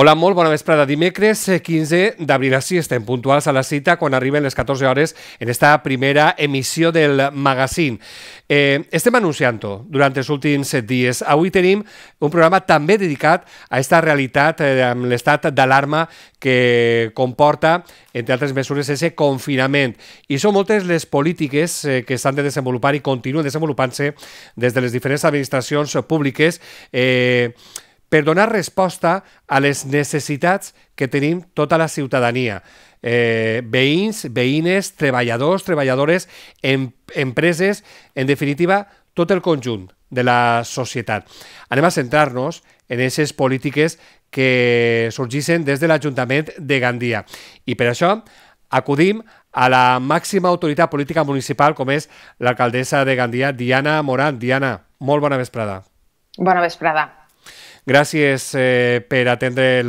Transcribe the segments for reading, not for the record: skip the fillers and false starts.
Hola, molt bona vesprada. Dimecres 15 d'abril, així estem puntuals a la cita quan arriben les 14 hores en esta primera emissió del magazín. Estem anunciant-ho durant els últims dies. Avui tenim un programa també dedicat a aquesta realitat amb l'estat d'alarma que comporta, entre altres mesures, aquest confinament. I són moltes les polítiques que s'han de desenvolupar i continuen desenvolupant-se des de les diferents administracions públiques per donar resposta a les necessitats que tenim tota la ciutadania. Veïns, veïnes, treballadors, treballadores, empreses, en definitiva, tot el conjunt de la societat. Anem a centrar-nos en aquestes polítiques que sorgeixen des de l'Ajuntament de Gandia. I per això acudim a la màxima autoritat política municipal, com és l'alcaldessa de Gandia, Diana Morant. Diana, molt bona vesprada. Bona vesprada. Gràcies per atendre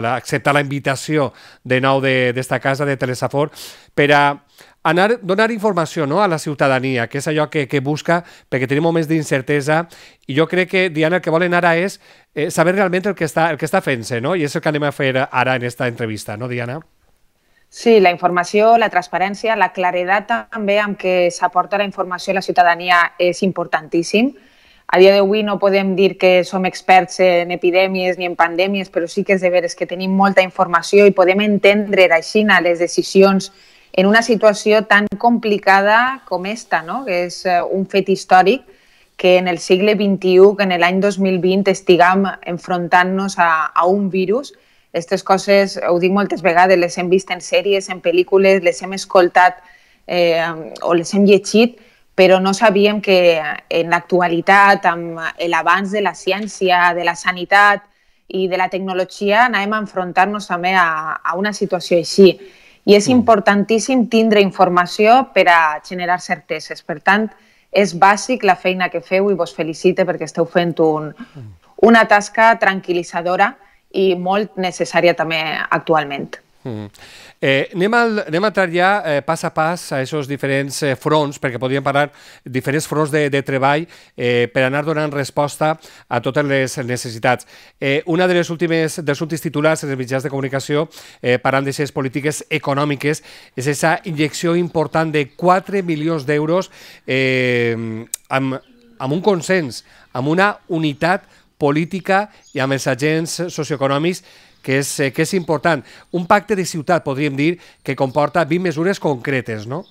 acceptar la invitació de nou d'esta casa de Telesafor per a donar informació a la ciutadania, que és allò que busca, perquè tenim moments d'incertesa, i jo crec que, Diana, el que volen ara és saber realment el que està fent-se, no? I és el que anem a fer ara en aquesta entrevista, no, Diana? Sí, la informació, la transparència, la claredat també amb què s'aporta la informació a la ciutadania és importantíssim. A dia d'avui no podem dir que som experts en epidèmies ni en pandèmies, però sí que és de veres que tenim molta informació i podem entendre així les decisions en una situació tan complicada com esta, no? Que és un fet històric que en el segle XXI, que en l'any 2020 estiguem enfrontant-nos a un virus. Aquestes coses, ho dic moltes vegades, les hem vist en sèries, en pel·lícules, les hem escoltat o les hem llegit, però no sabíem que en l'actualitat, amb l'avanç de la ciència, de la sanitat i de la tecnologia, anàvem a enfrontar-nos també a una situació així. I és importantíssim tindre informació per a generar certeses. Per tant, és bàsic la feina que feu i vos felicite perquè esteu fent una tasca tranquil·litzadora i molt necessària també actualment. Anem a entrar ja pas a pas a aquests diferents fronts, perquè podríem parlar de diferents fronts de treball per anar donant resposta a totes les necessitats. Una dels últims titulars dels mitjans de comunicació parlant d'aquestes polítiques econòmiques és aquesta injecció important de 4 milions d'euros amb un consens, amb una unitat política i amb els agents socioeconòmics que és important. Un pacte de ciutat, podríem dir, que comporta 20 mesures concretes, no?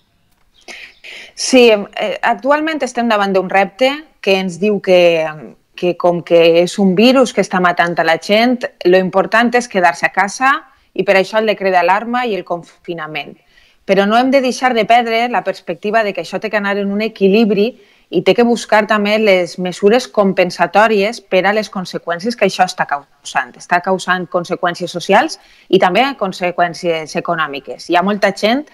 Sí, actualment estem davant d'un repte que ens diu que com que és un virus que està matant a la gent, lo important és quedar-se a casa i per això el decret d'alarma i el confinament. Però no hem de deixar de perdre la perspectiva de que això té que anar en un equilibri i té que buscar també les mesures compensatòries per a les conseqüències que això està causant. Està causant conseqüències socials i també conseqüències econòmiques. Hi ha molta gent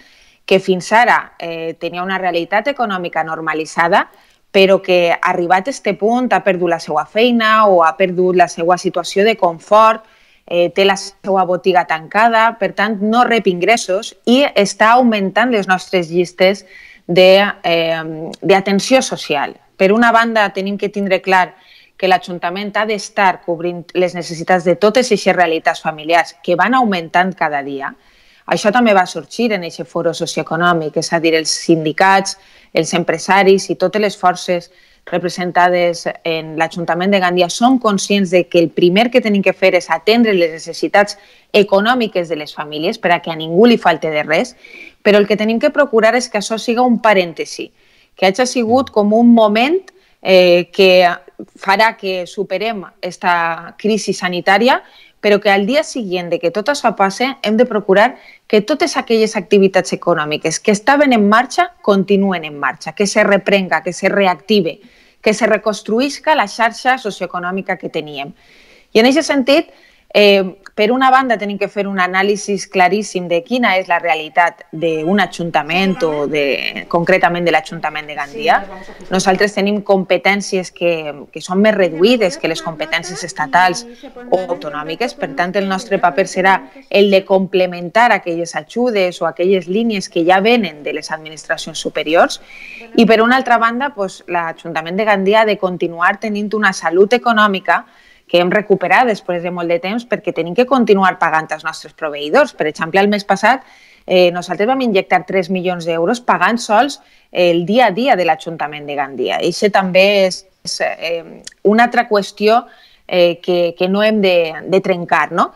que fins ara tenia una realitat econòmica normalitzada, però que arribat a aquest punt ha perdut la seva feina o ha perdut la seva situació de confort, té la seva botiga tancada, per tant no rep ingressos i està augmentant les nostres llistes d'atenció social. Per una banda, tenim que tindre clar que l'Ajuntament ha d'estar cobrint les necessitats de totes aquestes realitats familiars que van augmentant cada dia. Això també va sorgir en aquest foro socioeconòmic, és a dir, els sindicats, els empresaris i totes les forces representades en l'Ajuntament de Gandia som conscients de que el primer que tenim que fer és atendre les necessitats econòmiques de les famílies per a que a ningú li falte de res, però el que tenim que procurar és que això siga un parèntesi, que hagi sigut com un moment que farà que superem aquesta crisi sanitària, però que al dia següent de que tot això passe hem de procurar que totes aquelles activitats econòmiques que estaven en marxa continuen en marxa, que se reprenga, que se reactive, que se reconstruïsca la xarxa socioeconòmica que teníem. I en aquest sentit, per una banda, tenim que fer un anàlisi claríssim de quina és la realitat d'un ajuntament o concretament de l'Ajuntament de Gandia. Nosaltres tenim competències que són més reduïdes que les competències estatals o autonòmiques. Per tant, el nostre paper serà el de complementar aquelles ajudes o aquelles línies que ja venen de les administracions superiors. I per una altra banda, l'Ajuntament de Gandia ha de continuar tenint una salut econòmica que hem recuperat després de molt de temps perquè tenim que continuar pagant als nostres proveïdors. Per exemple, el mes passat nosaltres vam injectar 3 milions d'euros pagant sols el dia a dia de l'Ajuntament de Gandia. I això també és una altra qüestió que no hem de trencar, no?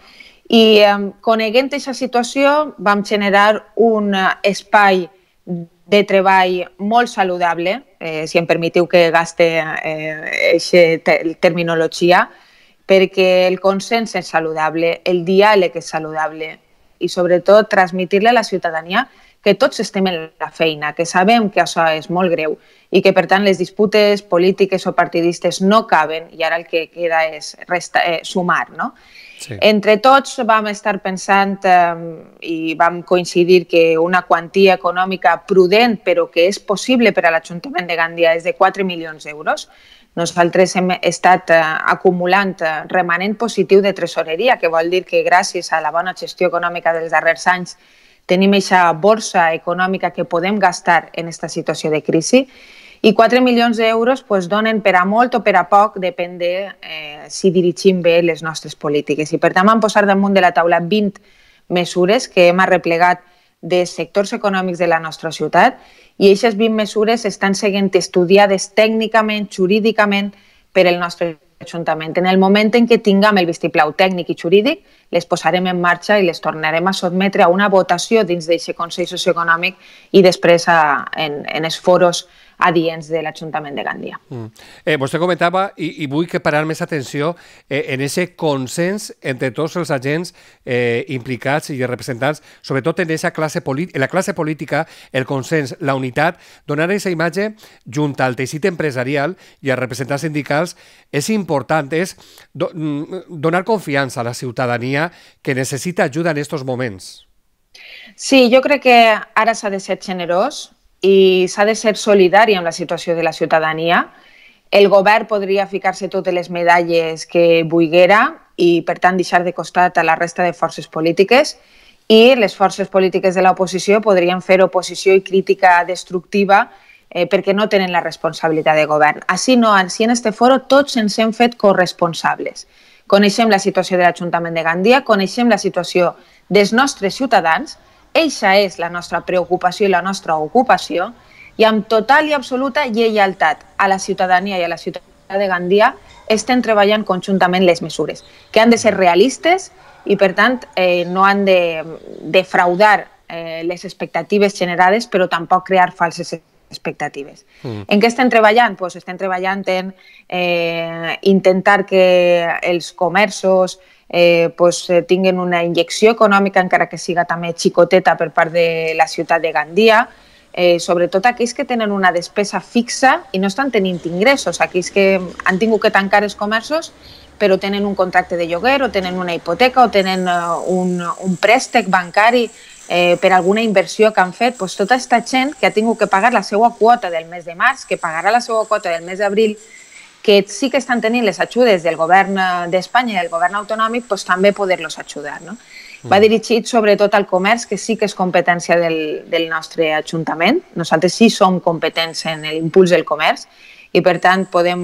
I coneguent aquesta situació vam generar un espai de treball molt saludable, si em permetiu que gaste aquesta terminologia, perquè el consens és saludable, el diàleg és saludable i sobretot transmetre-li a la ciutadania que tots estem en la feina, que sabem que això és molt greu i que, per tant, les disputes polítiques o partidistes no caben i ara el que queda és sumar, no? Sí. Entre tots vam estar pensant i vam coincidir que una quantia econòmica prudent però que és possible per a l'Ajuntament de Gandia és de 4 milions d'euros. Nosaltres hem estat acumulant remanent positiu de tresoreria, que vol dir que gràcies a la bona gestió econòmica dels darrers anys tenim aquesta borsa econòmica que podem gastar en aquesta situació de crisi. I 4 milions d'euros donen per a molt o per a poc, depèn de si dirigim bé les nostres polítiques. I per tant vam posar damunt de la taula 20 mesures que hem arreplegat de sectors econòmics de la nostra ciutat i aquestes 20 mesures estan sent estudiades tècnicament, jurídicament per el nostre Ajuntament. En el moment en què tinguem el vistiplau tècnic i jurídic, les posarem en marxa i les tornarem a sotmetre a una votació dins d'aquest Consell Socioeconòmic i després en els foros adients de l'Ajuntament de Gandia. Vostè comentava, i vull que parar més atenció en aquest consens entre tots els agents implicats i representants, sobretot en la classe política, el consens, la unitat, donar aquesta imatge junt al teixit empresarial i als representants sindicals és important, és donar confiança a la ciutadania que necessita ajuda en aquests moments. Sí, jo crec que ara s'ha de ser generós i s'ha de ser solidari amb la situació de la ciutadania. El govern podria ficar-se totes les medalles que volguera i, per tant, deixar de costat a la resta de forces polítiques i les forces polítiques de l'oposició podrien fer oposició i crítica destructiva perquè no tenen la responsabilitat de govern. Així no, així en este foro tots ens hem fet corresponsables. Coneixem la situació de l'Ajuntament de Gandia, coneixem la situació dels nostres ciutadans. Eixa és la nostra preocupació i la nostra ocupació i amb total i absoluta lleialtat a la ciutadania i a la ciutat de Gandia estem treballant conjuntament les mesures, que han de ser realistes i, per tant, no han de defraudar les expectatives generades, però tampoc crear falses expectatives. En què estem treballant? Pues estem treballant en intentar que els comerços tinguen una injecció econòmica, encara que siga també xicoteta per part de la ciutat de Gandia, sobretot aquells que tenen una despesa fixa i no estan tenint ingressos, aquells que han tingut que tancar els comerços però tenen un contracte de lloguer o tenen una hipoteca o tenen un préstec bancari per alguna inversió que han fet. Tota aquesta gent que ha tingut que pagar la seva quota del mes de març, que pagarà la seva quota del mes d'abril, que sí que estan tenint les ajudes del govern d'Espanya i del govern autonòmic, també poder-los ajudar. Va dirigit sobretot al comerç, que sí que és competència del nostre Ajuntament. Nosaltres sí som competents en l'impuls del comerç i, per tant, podem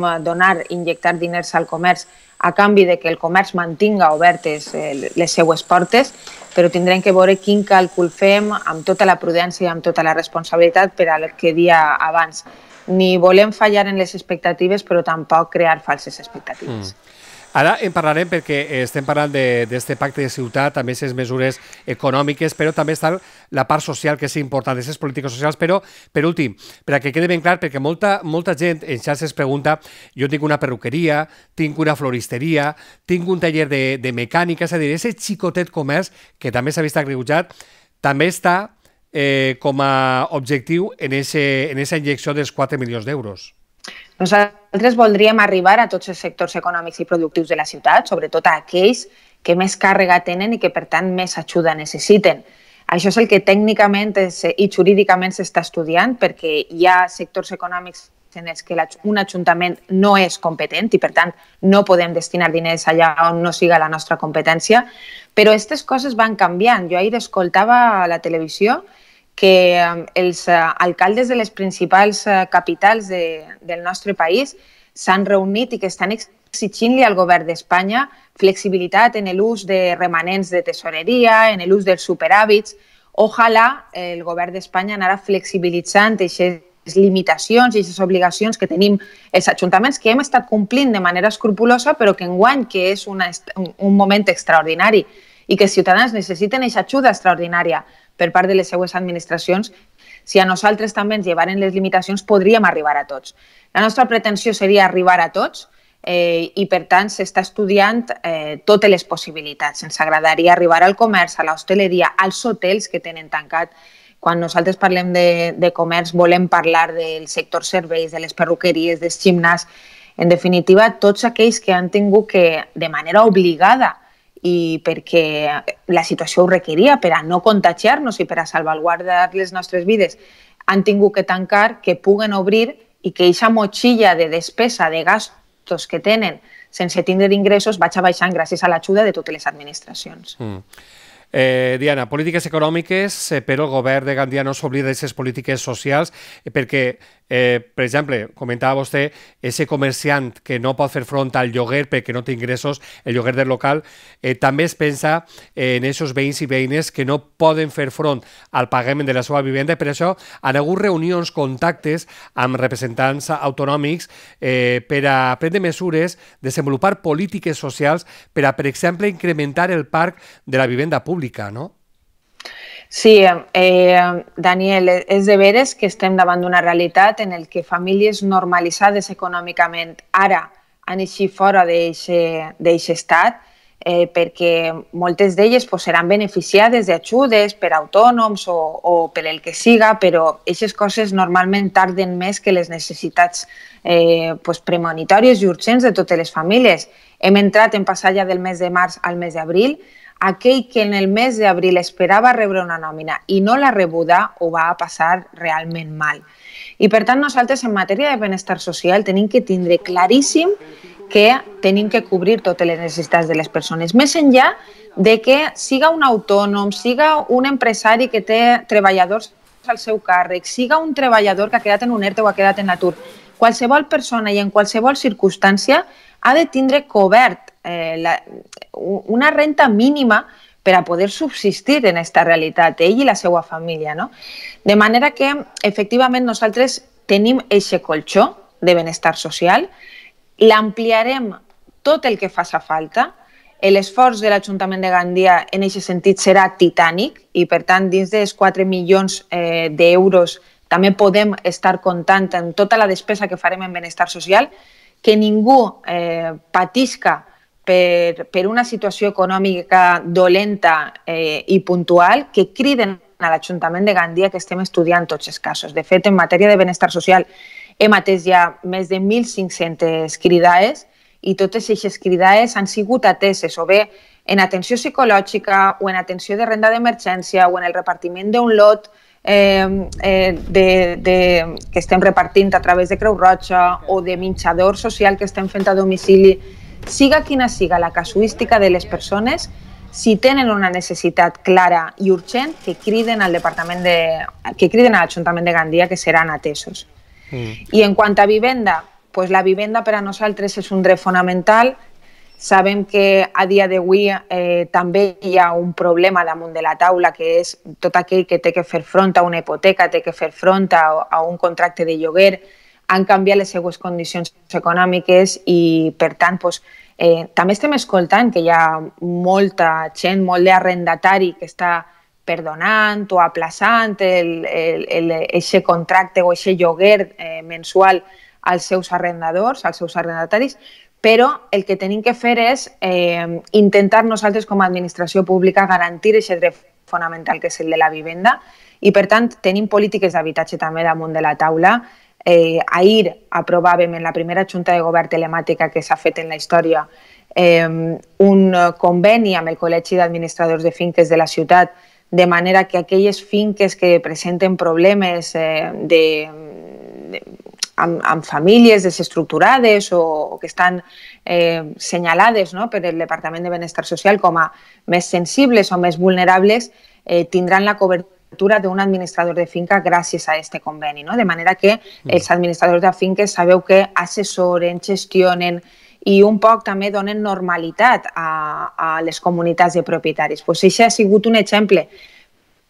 injectar diners al comerç a canvi de que el comerç mantinga obertes les seues portes, però tindrem que veure quin càlcul fem amb tota la prudència i amb tota la responsabilitat per al que dia abans. Ni volem fallar en les expectatives, però tampoc crear falses expectatives. Ara en parlarem perquè estem parlant d'aquest pacte de ciutat, també aquestes mesures econòmiques, però també està la part social, que és important, aquestes polítiques socials. Però, per últim, per a que quede ben clar, perquè molta gent en xarxes pregunta, jo tinc una perruqueria, tinc una floristeria, tinc un taller de mecànica, és a dir, aquest xicotet comerç, que també s'ha vist agreujat, també està com a objectiu en aquesta injecció dels 4 milions d'euros. Nosaltres voldríem arribar a tots els sectors econòmics i productius de la ciutat, sobretot a aquells que més càrrega tenen i que, per tant, més ajuda necessiten. Això és el que tècnicament i jurídicament s'està estudiant, perquè hi ha sectors econòmics en els que un ajuntament no és competent i, per tant, no podem destinar diners allà on no siga la nostra competència, però aquestes coses van canviant. Jo ahir escoltava a la televisió que els alcaldes de les principals capitals del nostre país s'han reunit i que estan exigint-li al govern d'Espanya flexibilitat en l'ús de remanents de tesoreria, en l'ús dels superàvits. Ojalà el govern d'Espanya anara flexibilitzant aquestes limitacions i aquestes obligacions que tenim els ajuntaments, que hem estat complint de manera escrupulosa, però que enguany, que és un moment extraordinari i que els ciutadans necessiten aquesta ajuda extraordinària per part de les seues administracions, si a nosaltres també ens llevaren les limitacions, podríem arribar a tots. La nostra pretensió seria arribar a tots i, per tant, s'està estudiant totes les possibilitats. Ens agradaria arribar al comerç, a l'hostaleria, als hotels que tenen tancat. Quan nosaltres parlem de comerç volem parlar del sector serveis, de les perruqueries, dels gimnàs, en definitiva, tots aquells que han tingut que, de manera obligada, i perquè la situació ho requeria, per a no contagiar-nos i per a salvaguardar les nostres vides, han tingut que tancar, que puguen obrir i que aquesta motxilla de despesa, de gastos que tenen sense tindre ingressos vagi baixant gràcies a l'ajuda de totes les administracions. Diana, polítiques econòmiques, però el govern de Gandia no s'oblida d'aquestes polítiques socials, perquè, per exemple, comentava vostè, ese comerciant que no pot fer front al lloguer perquè no té ingressos, el lloguer del local, també es pensa en aquests veïns i veïnes que no poden fer front al pagament de la seva vivenda, i per això han hagut reunions, contactes amb representants autonòmics per a prendre mesures, desenvolupar polítiques socials per a, per exemple, incrementar el parc de la vivenda pública, no? Sí, Daniel, és de veres que estem davant d'una realitat en el que famílies normalitzades econòmicament ara han eixit fora d'aquest estat perquè moltes d'elles seran beneficiades d'ajudes per autònoms o per el que siga, però aquestes coses normalment tarden més que les necessitats premonitòries i urgents de totes les famílies. Hem entrat en passar ja del mes de març al mes d'abril. Aquell que en el mes d'abril esperava rebre una nòmina i no l'ha rebuda ho va passar realment mal. I per tant nosaltres en matèria de benestar social tenim que tindre claríssim que tenim que cobrir totes les necessitats de les persones, més enllà de que siga un autònom, siga un empresari que té treballadors al seu càrrec, siga un treballador que ha quedat en un ERTE o ha quedat en atur. Qualsevol persona i en qualsevol circumstància ha de tindre cobert una renta mínima per a poder subsistir en aquesta realitat, ell i la seva família, no? De manera que, efectivament, nosaltres tenim aquest colxó de benestar social, l'ampliarem tot el que faci falta, l'esforç de l'Ajuntament de Gandia en aquest sentit serà titànic i, per tant, dins dels 4 milions d'euros també podem estar comptant en tota la despesa que farem en benestar social, que ningú patisca per una situació econòmica dolenta i puntual, que criden a l'Ajuntament de Gandia que estem estudiant tots els casos. De fet, en matèria de benestar social hem atès ja més de 1.500 cridades i totes aquestes cridades han sigut ateses o bé en atenció psicològica o en atenció de renda d'emergència o en el repartiment d'un lot que estem repartint a través de Creu Roja o de menjador social que estem fent a domicili. Siga quina siga la casuística de les persones, si tenen una necessitat clara i urgent, que criden a l'Ajuntament de Gandia, que seran atesos. I en quant a vivenda, la vivenda per a nosaltres és un dret fonamental. Sabem que a dia d'avui també hi ha un problema damunt de la taula, que és tot aquell que té que fer front a una hipoteca, té que fer front a un contracte de lloguer, han canviat les seues condicions econòmiques i, per tant, també estem escoltant que hi ha molta gent, molt d'arrendatari que està perdonant o aplaçant aquest contracte o aquest lloguer mensual als seus arrendadors, als seus arrendataris, però el que tenim que fer és intentar nosaltres com a administració pública garantir aquest dret fonamental que és el de la vivenda i, per tant, tenim polítiques d'habitatge també damunt de la taula. Ahir aprovàvem en la primera junta de govern telemàtica que s'ha fet en la història un conveni amb el Col·legi d'Administradors de Finques de la ciutat, de manera que aquelles finques que presenten problemes amb famílies desestructurades o que estan senyalades per el Departament de Benestar Social com a més sensibles o més vulnerables tindran la cobertura cobertura d'un administrador de finca gràcies a aquest conveni, no? De manera que els administradors de finques sabeu que assessoren, gestionen i un poc també donen normalitat a les comunitats de propietaris. Pues això ha sigut un exemple,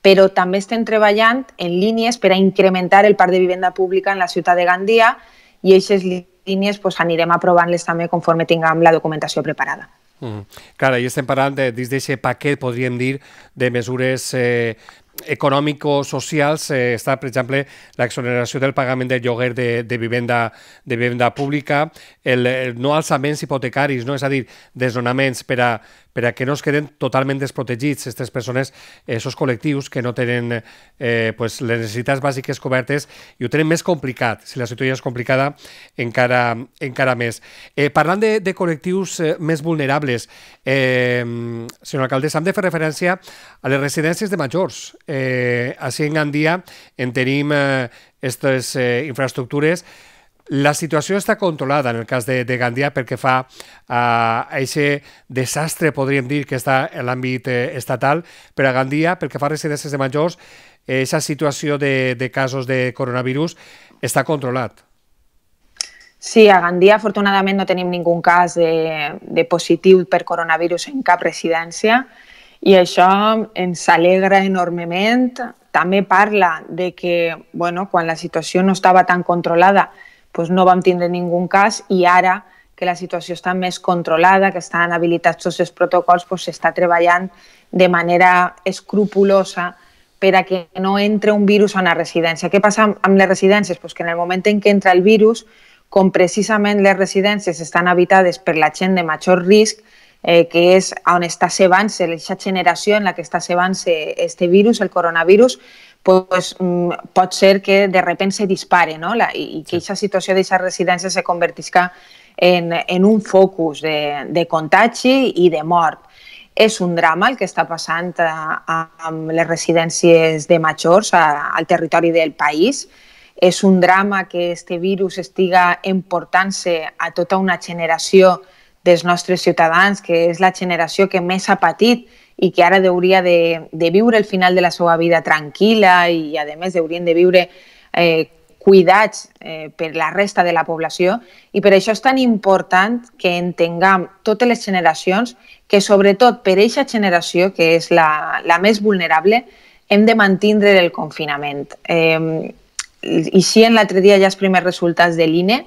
però també estem treballant en línies per a incrementar el parc de vivenda pública en la ciutat de Gandia i aquestes línies pues, anirem aprovant-les també conforme tinguem la documentació preparada. Clar, i estem parlant dins d'aquest paquet, podríem dir, de mesures econòmico-socials. Està, per exemple, l'exoneració del pagament del lloguer de vivenda pública, el no alçaments hipotecaris, no? És a dir, desnonaments per a que no es queden totalment desprotegits aquestes persones, aquests col·lectius que no tenen les necessitats bàsiques cobertes i ho tenen més complicat. Si la situació és complicada, encara més. Parlant de col·lectius més vulnerables, senyora alcaldessa, hem de fer referència a les residències de majors. Així en Gandia en tenim aquestes infraestructures. La situació està controlada en el cas de Gandia perquè fa a aquest desastre, podríem dir, que està en l'àmbit estatal, però a Gandia, perquè fa residències de majors, aquesta situació de casos de coronavirus està controlat. Sí, a Gandia afortunadament no tenim ningú cas de positiu per coronavirus en cap residència i això ens alegra enormement. També parla de que quan la situació no estava tan controlada doncs no vam tindre ningú cas i ara que la situació està més controlada, que estan habilitats tots els protocols, s'està treballant de manera escrupulosa per a que no entre un virus a una residència. Què passa amb les residències? Que en el moment en què entra el virus, com precisament les residències estan habitades per la gent de major risc, que és on està cebant-se, aquesta generació en la que està cebant-se este virus, el coronavirus, pues, pot ser que de repente se dispare, no? I que aquesta situació d'aquesta residència se convertisca en un focus de contagi i de mort. És un drama el que està passant amb les residències de majors al territori del país. És un drama que este virus estiga emportant-se a tota una generació dels nostres ciutadans, que és la generació que més ha patit i que ara hauria de viure el final de la seva vida tranquil·la i, a més, haurien de viure cuidats per la resta de la població. I per això és tan important que entenguem totes les generacions que, sobretot per aquesta generació, que és la més vulnerable, hem de mantindre el confinament. I sí, l'altre dia ja els primers resultats de l'INE,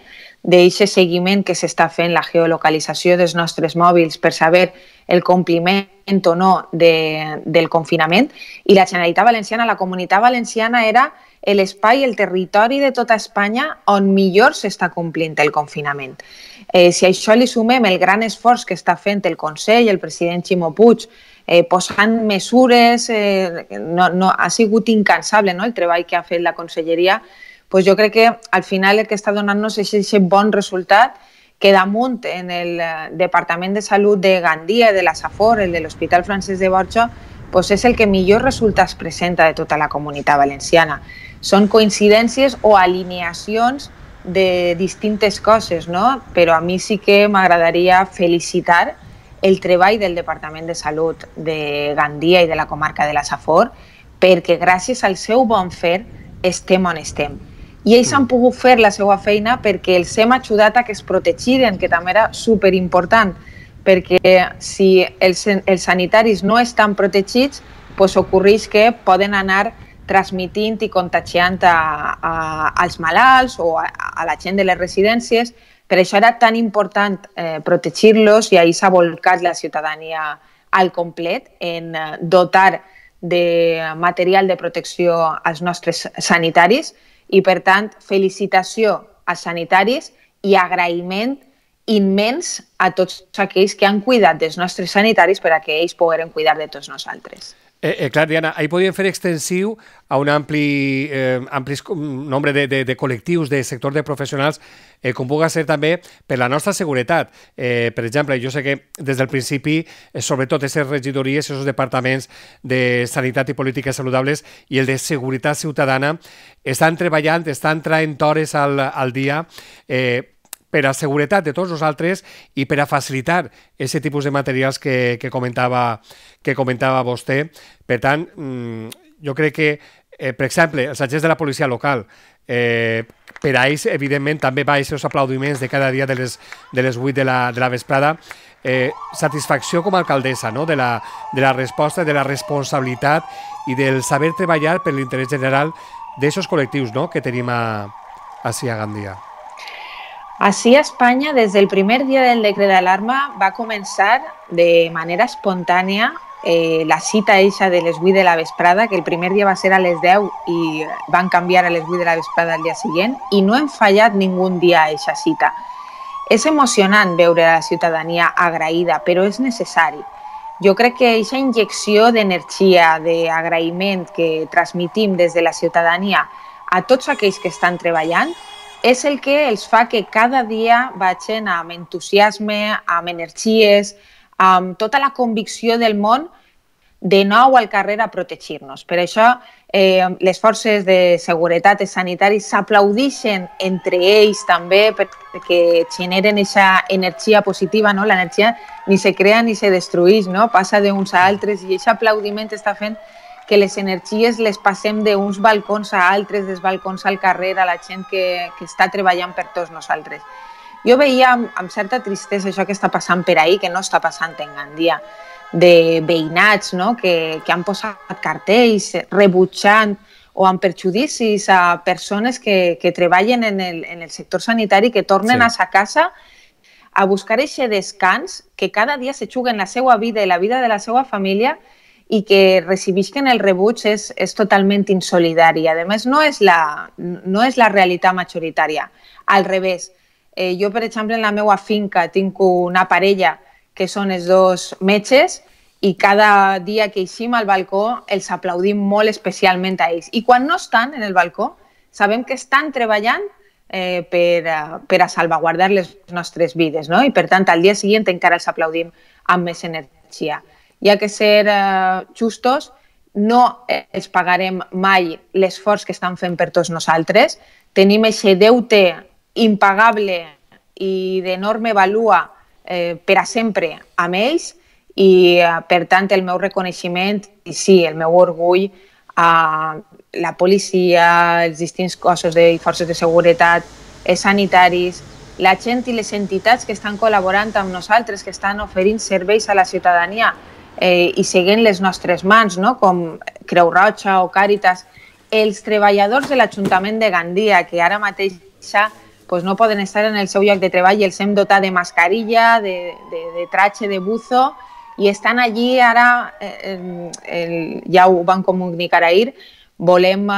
d'aquest seguiment que s'està fent, la geolocalització dels nostres mòbils per saber el compliment o no del confinament, i la Generalitat Valenciana, la Comunitat Valenciana era l'espai, el territori de tota Espanya on millor s'està complint el confinament. Si a això li sumem el gran esforç que està fent el Consell, el president Ximo Puig, posant mesures, ha sigut incansable el treball que ha fet la Conselleria, doncs jo crec que al final el que està donant-nos és aquest bon resultat que damunt en el Departament de Salut de Gandia, de la Safor, el de l'Hospital Francesc de Borja, doncs és el que millor resultats presenta de tota la Comunitat Valenciana. Són coincidències o alineacions de distintes coses, no? Però a mi sí que m'agradaria felicitar el treball del Departament de Salut de Gandia i de la comarca de la Safor, perquè gràcies al seu bon fer estem on estem. I ells han pogut fer la seva feina perquè els hem ajudat a que es protegiren, que també era superimportant, perquè si els sanitaris no estan protegits, doncs ocorreix que poden anar transmitint i contagiant als malalts o a la gent de les residències. Per això era tan important protegir-los i ahir s'ha volcat la ciutadania al complet en dotar de material de protecció als nostres sanitaris i, per tant, felicitació als sanitaris i agraïment immens a tots aquells que han cuidat dels nostres sanitaris per a que ells pogueren cuidar de tots nosaltres. Clar, Diana, ahir podíem fer extensiu a un ampli nombre de col·lectius, de sector de professionals, com pugui ser també per la nostra seguretat. Per exemple, jo sé que des del principi, sobretot aquestes regidories, aquests departaments de sanitat i polítiques saludables i el de seguretat ciutadana, estan treballant, estan traient hores al dia per a seguretat de tots nosaltres i per a facilitar aquest tipus de materials que comentava vostè. Per tant, jo crec que, per exemple, els agents de la policia local, per a ells, evidentment, també va aquests aplaudiments de cada dia de les 8 de la vesprada. Satisfacció com a alcaldessa, no? de la resposta, de la responsabilitat i del saber treballar per l'interès general d'aquests col·lectius, no? que tenim així a Gandia. Així a Espanya, des del primer dia del decret d'alarma, va començar de manera espontània la cita eixa de les 8 de la vesprada, que el primer dia va ser a les 10 i van canviar a les 8 de la vesprada el dia següent, i no hem fallat ningú dia a eixa cita. És emocionant veure la ciutadania agraïda, però és necessari. Jo crec que aquesta injecció d'energia, d'agraïment que transmitim des de la ciutadania a tots aquells que estan treballant és el que els fa que cada dia vagin amb entusiasme, amb energies, amb tota la convicció del món de nou al carrer a protegir-nos. Per això les forces de seguretat i sanitaris s'aplaudeixen entre ells també perquè generen aquesta energia positiva, no? L'energia ni se crea ni se destrueix, no? Passa d'uns a altres i aquest aplaudiment està fent que les energies les passem d'uns balcons a altres, dels balcons al carrer, a la gent que està treballant per tots nosaltres. Jo veia amb certa tristesa això que està passant per ahir, que no està passant en Gandia, de veïnats, no? que han posat cartells rebutjant o amb perjudicis a persones que treballen en el sector sanitari, que tornen a sa casa a buscar aquest descans, que cada dia se juguen la seva vida i la vida de la seva família, i que recibisquen el rebuig és totalment insolidari. A més, no és la realitat majoritària. Al revés, jo, per exemple, en la meva finca tinc una parella que són els dos metges i cada dia que eixim al balcó els aplaudim molt especialment a ells. I quan no estan en el balcó, sabem que estan treballant per a salvaguardar les nostres vides, no? I per tant, al dia següent encara els aplaudim amb més energia. Hi ha que ser justos, no els pagarem mai l'esforç que estan fent per tots nosaltres. Tenim aquest deute impagable i d'enorme valua per a sempre amb ells i, per tant, el meu reconeixement i sí, el meu orgull a la policia, els distints cossos i forces de seguretat, els sanitaris, la gent i les entitats que estan col·laborant amb nosaltres, que estan oferint serveis a la ciutadania i seguint les nostres mans, no? Com Creu Roja o Càritas, els treballadors de l'Ajuntament de Gandia, que ara mateix no poden estar en el seu lloc de treball i els hem dotat de mascarilla, de traje, de buzo, i estan allí ara, ja ho van comunicar ahir, volem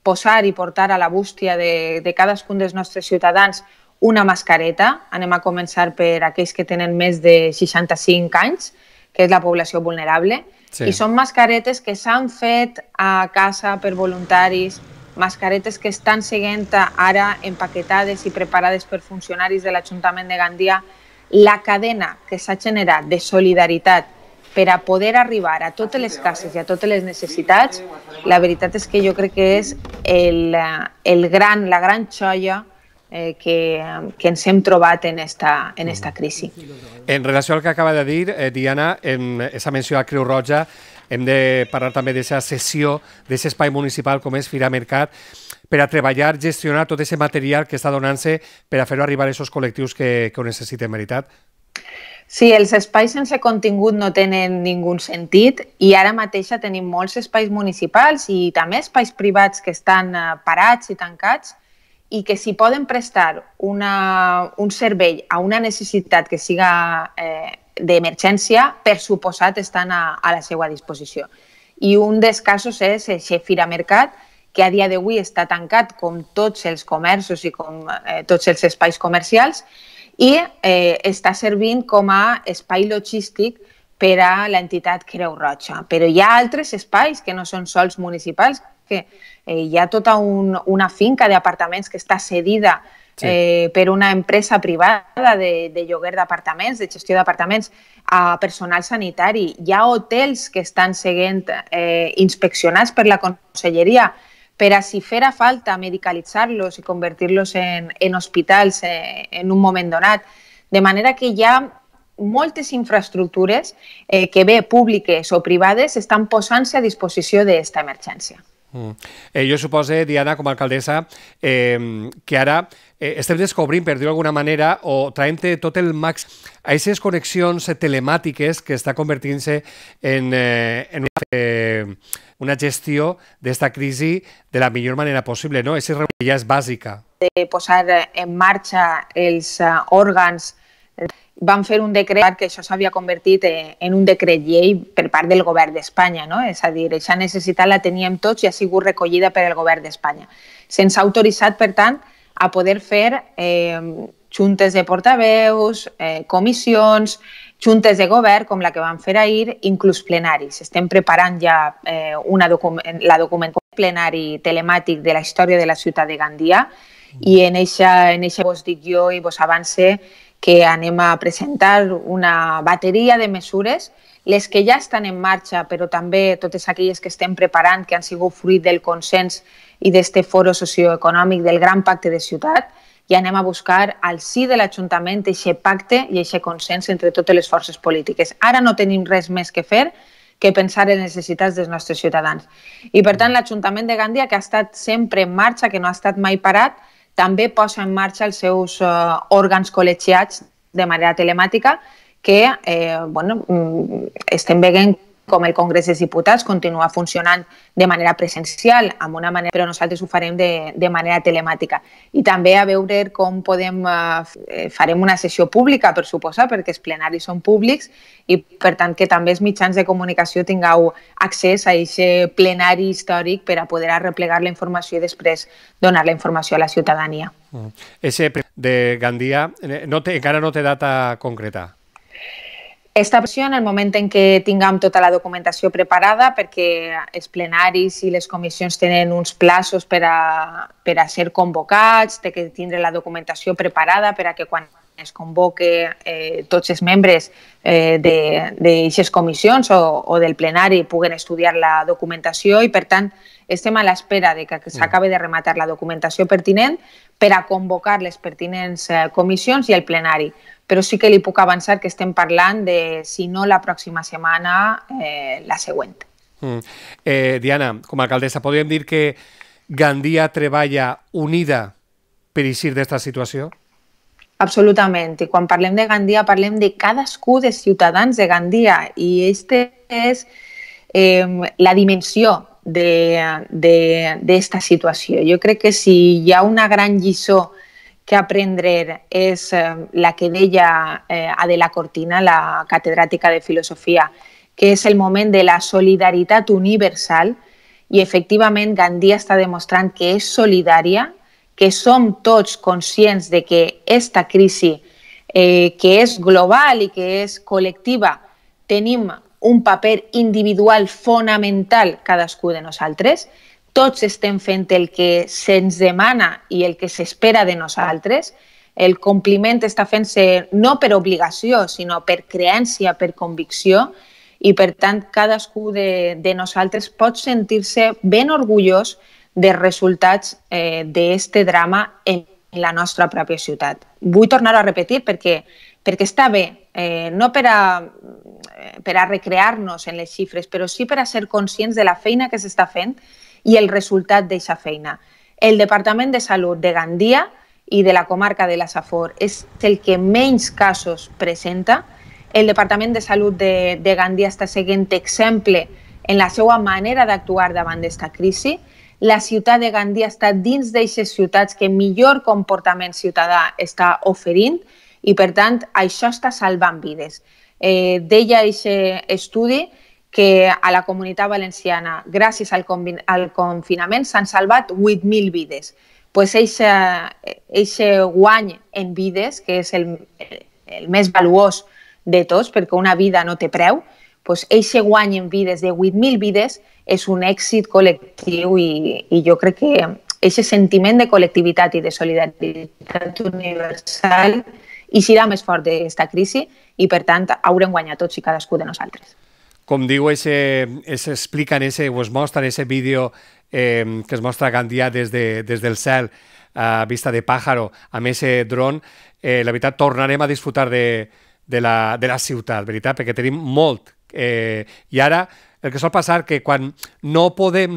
posar i portar a la bústia de cadascun dels nostres ciutadans una mascareta. Anem a començar per aquells que tenen més de 65 anys, que és la població vulnerable, i són mascaretes que s'han fet a casa per voluntaris, mascaretes que estan seguint ara empaquetades i preparades per funcionaris de l'Ajuntament de Gandia. La cadena que s'ha generat de solidaritat per a poder arribar a totes les cases i a totes les necessitats, la veritat és que jo crec que és la gran joia que ens hem trobat en esta crisi. En relació al que acaba de dir, Diana, en aquesta menció a Creu Roja, hem de parlar també d'aquesta cessió d'aquest espai municipal com és Fira Mercat per a treballar, gestionar tot aquest material que està donant-se per a fer-ho arribar a aquests col·lectius que ho necessiten, veritat? Sí, els espais sense contingut no tenen ningú sentit i ara mateix tenim molts espais municipals i també espais privats que estan parats i tancats i que si poden prestar un servei a una necessitat que siga d'emergència, per suposat estan a la seva disposició. I un dels casos és el Fira Mercat, que a dia d'avui està tancat com tots els comerços i com tots els espais comercials i està servint com a espai logístic per a l'entitat Creu Roja. Però hi ha altres espais que no són sols municipals, que hi ha tota una finca d'apartaments que està cedida per una empresa privada de lloguer d'apartaments, de gestió d'apartaments, a personal sanitari. Hi ha hotels que estan sent inspeccionats per la Conselleria per a, si fera falta, medicalitzar-los i convertir-los en hospitals en un moment donat. De manera que hi ha moltes infraestructures que bé públiques o privades estan posant-se a disposició d'aquesta emergència. Jo suposo, Diana, com a alcaldessa, que ara estem descobrint, per dir-ho d'alguna manera, o traient tot el màxim a aquestes connexions telemàtiques que està convertint-se en una gestió d'esta crisi de la millor manera possible, no? Aquesta ja és bàsica. De posar en marxa els òrgans, van fer un decret que això s'havia convertit en un decret llei per part del govern d'Espanya, no? És a dir, aquesta necessitat la teníem tots i ha sigut recollida per el govern d'Espanya. Se'ns ha autoritzat, per tant, a poder fer juntes de portaveus, comissions, juntes de govern, com la que vam fer ahir, inclús plenaris. Estem preparant ja la documentació plenari telemàtic de la història de la ciutat de Gandia i en eixa vos dic jo i vos avance que anem a presentar una bateria de mesures, les que ja estan en marxa, però també totes aquelles que estem preparant, que han sigut fruit del consens i d'este foro socioeconòmic del Gran Pacte de Ciutat, i anem a buscar al si de l'Ajuntament aquest pacte i aquest consens entre totes les forces polítiques. Ara no tenim res més que fer que pensar en les necessitats dels nostres ciutadans. I per tant l'Ajuntament de Gandia, que ha estat sempre en marxa, que no ha estat mai parat, també posa en marxa els seus òrgans col·legiats de manera telemàtica que estem veient com el Congrés dels Diputats continua funcionant de manera presencial, amb una manera, però nosaltres ho farem de manera telemàtica. I també a veure com farem una sessió pública, per suposar, perquè els plenaris són públics i, per tant, que també els mitjans de comunicació tingueu accés a aquest plenari històric per a poder arreplegar la informació i després donar la informació a la ciutadania. Ese de Gandia encara no té data concreta. Esta versió, en el moment en què tinguem tota la documentació preparada, perquè els plenaris i les comissions tenen uns plaços per a ser convocats, té que tindre la documentació preparada per a que quan es convoque tots els membres d'aquestes comissions o del plenari puguen estudiar la documentació i, per tant, estem a l'espera de que s'acabi de rematar la documentació pertinent per a convocar les pertinents comissions i el plenari. Però sí que li puc avançar que estem parlant de, si no la pròxima setmana, la següent. Diana, com a alcaldessa, podríem dir que Gandia treballa unida per eixir d'esta situació? Absolutament. I quan parlem de Gandia, parlem de cadascú dels ciutadans de Gandia. I aquesta és la dimensió d'esta situació. Jo crec que si hi ha una gran lliçó que aprendre és la que deia Adela Cortina, la catedràtica de filosofia, que és el moment de la solidaritat universal i efectivament Gandia està demostrant que és solidària, que som tots conscients de que aquesta crisi, que és global i que és col·lectiva, tenim un paper individual fonamental cadascú de nosaltres. Tots estem fent el que se'ns demana i el que s'espera de nosaltres. El compliment està fent-se no per obligació, sinó per creència, per convicció, i per tant cadascú de nosaltres pot sentir-se ben orgullós dels resultats d'aquest drama en la nostra pròpia ciutat. Vull tornar a repetir perquè està bé, no per a recrear-nos en les xifres, però sí per a ser conscients de la feina que s'està fent i el resultat d'aquesta feina. El Departament de Salut de Gandia i de la comarca de la Safor és el que menys casos presenta. El Departament de Salut de Gandia està seguint exemple en la seva manera d'actuar davant d'aquesta crisi. La ciutat de Gandia està dins d'aquestes ciutats que millor comportament ciutadà està oferint i, per tant, això està salvant vides. Deia aquest estudi que a la Comunitat Valenciana, gràcies al confinament, s'han salvat 8.000 vides. Pues aquest guany en vides, que és el més valuós de tots, perquè una vida no té preu, pues aquest guany en vides de 8.000 vides és un èxit col·lectiu i jo crec que aquest sentiment de col·lectivitat i de solidaritat universal eixirà més fort d'aquesta crisi i, per tant, haurem guanyat tots i cadascú de nosaltres. Com diu, s'explica o es mostra en aquest vídeo que es mostra a Gandia des del cel a vista de pàjaro amb aquest dron. La veritat, tornarem a disfrutar de la ciutat, veritat? Perquè tenim molt. I ara el que sol passar que quan no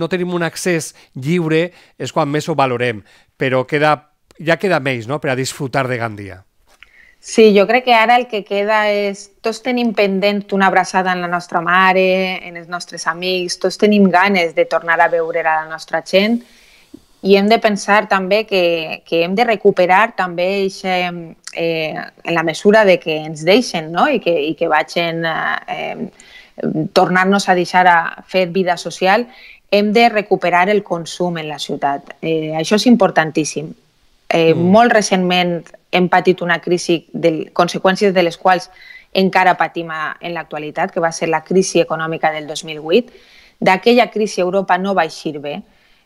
tenim un accés lliure és quan més ho valorem, però ja queda menys, no?, per a disfrutar de Gandia. Sí, jo crec que ara el que queda és... Tots tenim pendent una abraçada en la nostra mare, en els nostres amics, tots tenim ganes de tornar a veure a la nostra gent i hem de pensar també que hem de recuperar també en la mesura de que ens deixen, no?, i que vagin tornar-nos a deixar a fer vida social, hem de recuperar el consum en la ciutat. Això és importantíssim. Molt recentment hem patit una crisi, conseqüències de les quals encara patim en l'actualitat, que va ser la crisi econòmica del 2008. D'aquella crisi Europa no va eixir bé.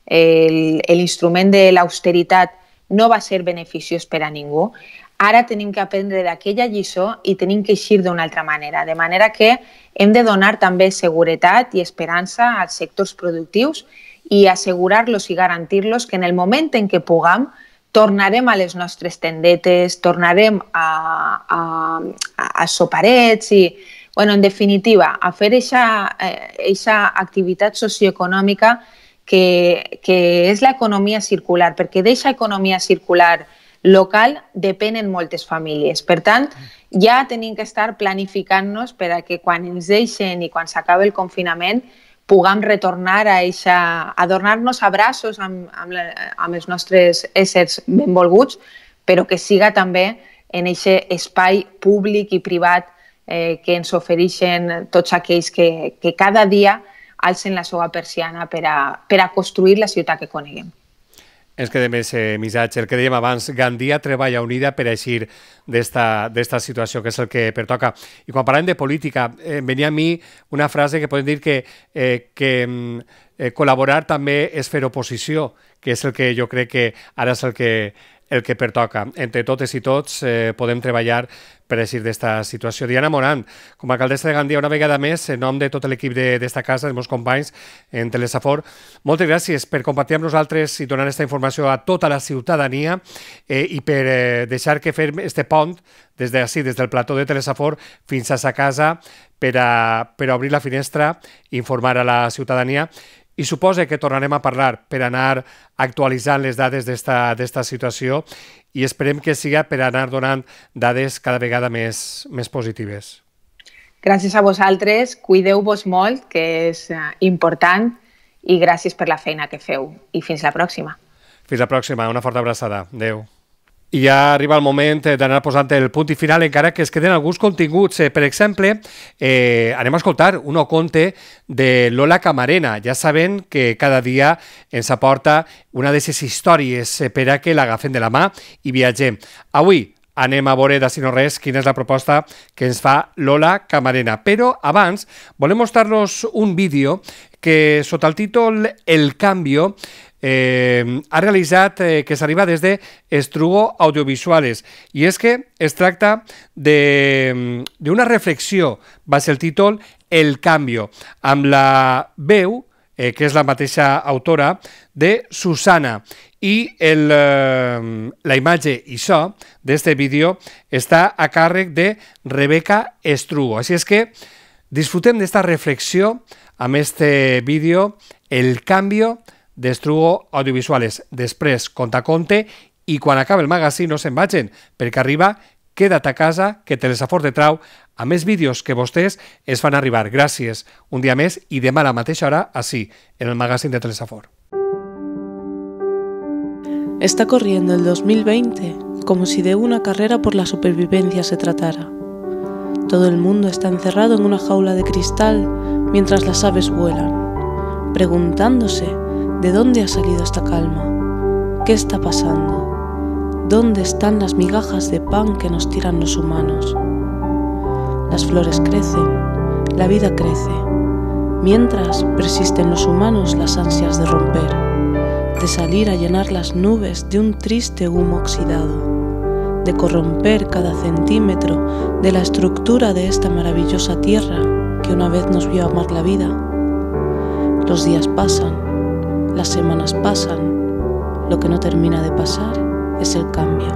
L'instrument de l'austeritat no va ser beneficiós per a ningú. Ara tenim que aprendre d'aquella lliçó i tenim que eixir d'una altra manera. De manera que hem de donar també seguretat i esperança als sectors productius i assegurar-los i garantir-los que en el moment en què puguem tornarem a les nostres tendetes, tornarem a soparets i, en definitiva, a fer aquesta activitat socioeconòmica que és l'economia circular, perquè d'aquesta economia circular local depenen moltes famílies. Per tant, ja tenim que estar planificant-nos per a que quan ens deixen i quan s'acabi el confinament puguem retornar a donar-nos abraços amb els nostres éssers benvolguts, però que siga també en aquest espai públic i privat que ens ofereixen tots aquells que cada dia alcen la seva persiana per a construir la ciutat que coneguem. Ens quedem més missatge. El que dèiem abans, Gandia treballa unida per eixir d'esta situació, que és el que pertoca. I quan parlem de política, venia a mi una frase que podem dir que col·laborar també és fer oposició, que és el que jo crec que ara és el que pertoca. Entre totes i tots podem treballar per eixir d'esta situació. Diana Morant, com a alcaldessa de Gandia, una vegada més, en nom de tot l'equip d'esta casa, dels meus companys en Telesafor, moltes gràcies per compartir amb nosaltres i donar aquesta informació a tota la ciutadania i per deixar que fem este pont des del plató de Telesafor fins a sa casa per a obrir la finestra i informar a la ciutadania. I suposa que tornarem a parlar per anar actualitzant les dades d'esta situació i esperem que siga per anar donant dades cada vegada més positives. Gràcies a vosaltres, cuideu-vos molt, que és important, i gràcies per la feina que feu. I fins la pròxima. Fins la pròxima, una forta abraçada. Adéu. I ja arriba el moment d'anar posant el punt i final, encara que es queden alguns continguts. Per exemple, anem a escoltar un conte de Lola Camarena. Ja saben que cada dia ens aporta una d'aquestes històries per a que l'agafem de la mà i viatgem. Avui anem a veure, d'ací no res, quina és la proposta que ens fa Lola Camarena. Però abans volem mostrar-los un vídeo que sota el títol El Cambio ha realitzat, que s'arriba des de Estrugo Audiovisuales, i és que es tracta d'una reflexió, va ser el títol El Cambio, amb la veu, que és la mateixa autora, de Susana, i la imatge i so d'este vídeo està a càrrec de Rebeca Estrugo. Així és que disfrutem d'esta reflexió amb este vídeo El Cambio d'Estrugo Audiovisuales. Després, conte, i quan acabi el magazín no se'n vagin, perquè arriba Queda't a casa, que Telesafor te trau a més vídeos que vostès es fan arribar. Gràcies un dia més i demà a la mateixa hora, així, en el magazín de Telesafor. Está corriendo el 2020 como si de una carrera por la supervivencia se tratara. Todo el mundo está encerrado en una jaula de cristal mientras las aves vuelan, preguntándose ¿de dónde ha salido esta calma? ¿Qué está pasando? ¿Dónde están las migajas de pan que nos tiran los humanos? Las flores crecen, la vida crece, mientras persisten los humanos las ansias de romper, de salir a llenar las nubes de un triste humo oxidado, de corromper cada centímetro de la estructura de esta maravillosa tierra que una vez nos vio amar la vida. Los días pasan, las semanas pasan, lo que no termina de pasar es el cambio.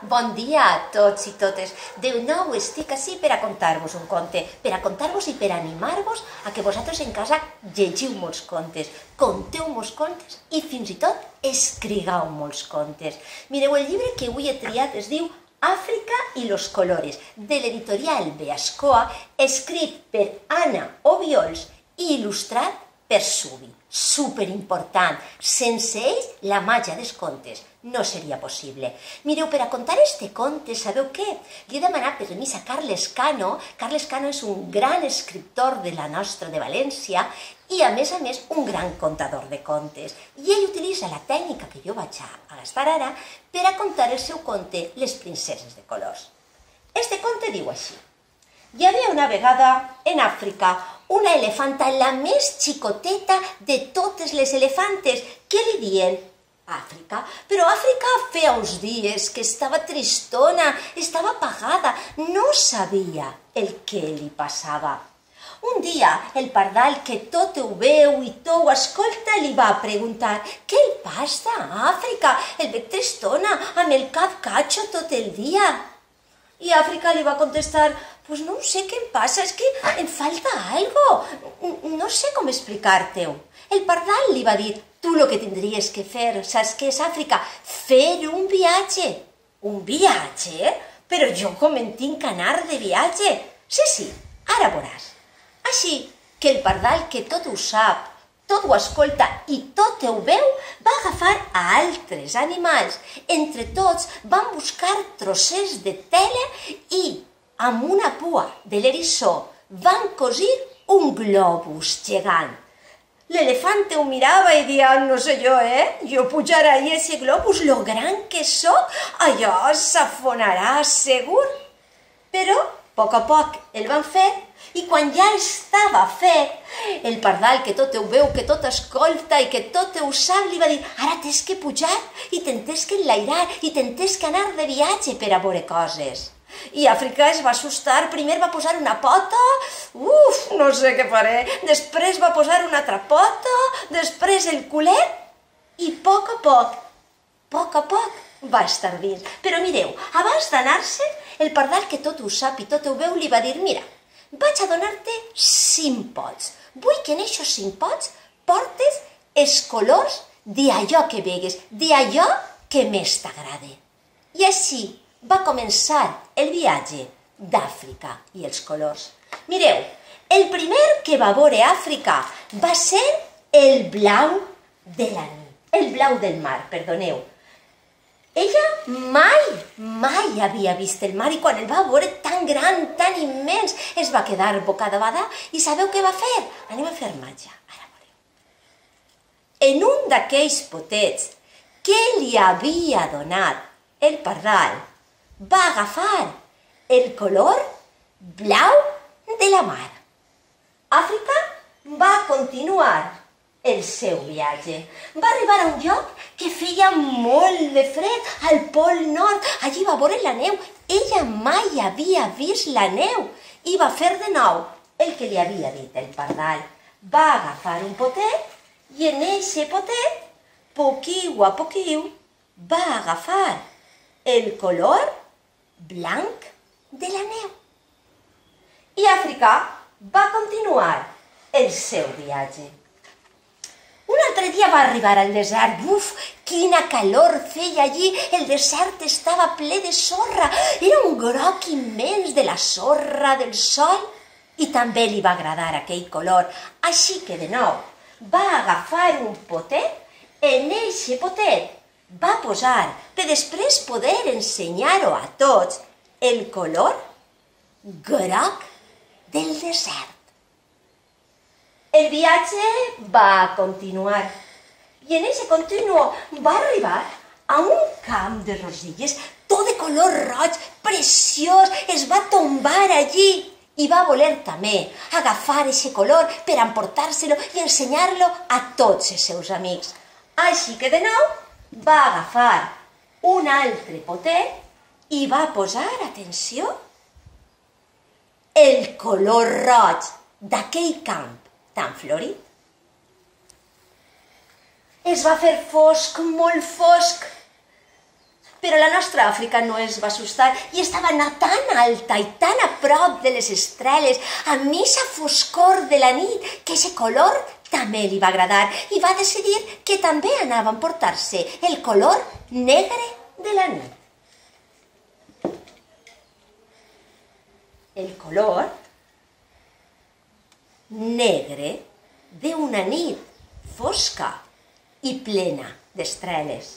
Bon dia a tots i totes. De nou estic ací per a contar-vos un conte, per a contar-vos i per a animar-vos a que vosaltres en casa llegiu molts contes, conteu molts contes i fins i tot escrigueu molts contes. Mireu, el llibre que avui he triat es diu Àfrica i los colores, de l'editorial Beascoa, escrit per Anna Obiols i il·lustrat per Subi. Superimportant. Sense ells, la màgia dels contes no seria possible. Mireu, per a contar este conte, sabeu què? Li he demanat permís a Carles Cano. Carles Cano és un gran escriptor de la nostra de València i, a més, un gran contador de contes. I ell utilitza la tècnica que jo vaig a gastar ara per a contar el seu conte Les princeses de colors. Este conte diu així. Hi havia una vegada en Àfrica una elefanta, la més xicoteta de totes les elefantes. Què li dien? Àfrica. Però Àfrica feia uns dies que estava tristona, estava apagada, no sabia el que li passava. Un dia, el pardal, que tot ho veu i tot ho escolta, li va preguntar: «Què li passa, Àfrica? El veig tristona, amb el cap catxo tot el dia». I Àfrica li va contestar: «Pues no sé què em passa, és que em falta algo, no sé com explicar-te-ho». El pardal li va dir: «Tu lo que tindries que fer, saps què és, Àfrica? Fer un viatge». «Un viatge? Però jo com en tinc que anar de viatge?» Sí, ara veuràs. Així que el pardal, que tot ho sap, tot ho escolta i tot ho veu, va agafar a altres animals. Entre tots van buscar trossets de tela i, amb una pua de l'eriçó, van cosir un globus gegant. L'elefante ho mirava i dia: «No sé jo, jo pujar ahí ese globus, lo gran que soc, allò s'afonarà segur». Però, a poc el van fer. I quan ja estava fet, el pardal, que tot ho veu, que tot escolta i que tot ho sap, li va dir: «Ara tens que pujar i tens que enlairar i tens que anar de viatge per a veure coses». I Àfrica es va assustar. Primer va posar una pota, no sé què faré, després va posar una altra pota, després el culet i a poc va estar dins. Però mireu, abans d'anar-se, el pardal, que tot ho sap i tot ho veu, li va dir: «Mira, vaig a donar-te 5 pots. Vull que en aquests 5 pots portes els colors d'allò que vegues, d'allò que més t'agrade». I així va començar el viatge d'Àfrica i els colors. Mireu, el primer que va veure Àfrica va ser el blau de la nit, el blau del mar, perdoneu. Ella mai havia vist el mar i quan el va veure tan gran, tan immens, es va quedar bocabadada i sabeu què va fer? Anem a fer màgia, ara veureu. En un d'aquells potets que li havia donat el pardal, va agafar el color blau de la mar. Àfrica va continuar el seu viatge. Va arribar a un lloc que feia molt de fred, al Pol Nord. Allí va veure la neu. Ella mai havia vist la neu i va fer de nou el que li havia dit el pardal. Va agafar un potet i en eixe potet, poquiu a poquiu, va agafar el color blanc de la neu. I Àfrica va continuar el seu viatge. Un altre dia va arribar al desert. Quina calor feia allí. El desert estava ple de sorra. Era un groc immens de la sorra del sol i també li va agradar aquell color. Així que de nou va agafar un potet. En eixe potet va posar, per després poder ensenyar-ho a tots, el color groc del desert. El viatge va continuar i en aquest continuo va arribar a un camp de rosilles, tot de color roig, preciós. Es va tombar allí i va voler també agafar aquest color per emportar-se-lo i ensenyar-lo a tots els seus amics. Així que de nou va agafar un altre potet i va posar, atenció, el color roig d'aquell camp tan florit. Es va fer fosc, molt fosc. Però la nostra Àfrica no es va assustar i estava tan alta i tan a prop de les estrelles, amb aquesta foscor de la nit, que aquest color també li va agradar i va decidir que també anava a emportar-se el color negre de la nit. El color negre d'una nit fosca i plena d'estrelles.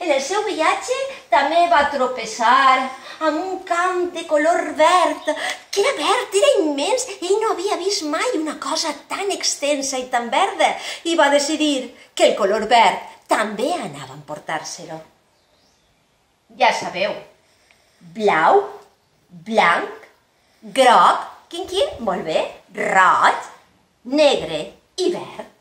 En el seu viatge també va tropeçar amb un camp de color verd, que era verd, era immens, ell no havia vist mai una cosa tan extensa i tan verda, i va decidir que el color verd també anava a emportar-se-lo. Ja sabeu, blau, blanc, groc, quin, molt bé, roig, negre i verd.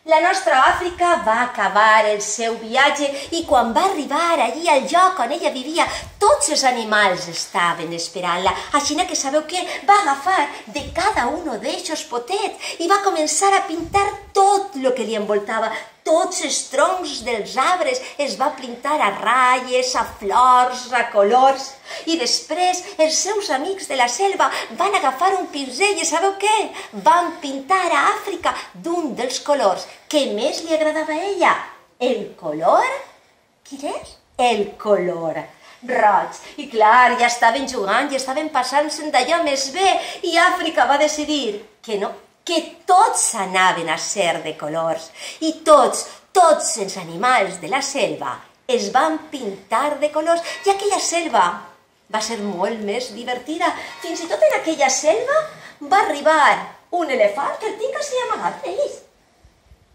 La nostra Àfrica va acabar el seu viatge i quan va arribar allí al lloc on ella vivia, tots els animals estaven esperant-la. Així que sabeu què? Va agafar de cada un d'eixos potets i va començar a pintar tot el que li envoltava. Tots els troncs dels arbres es va pintar a ratlles, a flors, a colors. I després els seus amics de la selva van agafar un pinzell i sabeu què? Van pintar a Àfrica d'un dels colors que més li agradava a ella. El color... Quin és? El color roig. I clar, ja estaven jugant i estaven passant-se'n d'allò més bé i Àfrica va decidir que no, que tots anaven a ser de colors i tots els animals de la selva es van pintar de colors i aquella selva va ser molt més divertida. Fins i tot en aquella selva va arribar un elefant que el tinc així amagat, veus?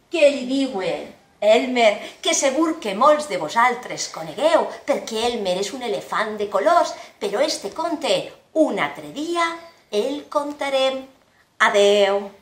Que li diuen Elmer, que segur que molts de vosaltres conegueu, perquè Elmer és un elefant de colors, però este conte un altre dia el contarem. Adeu!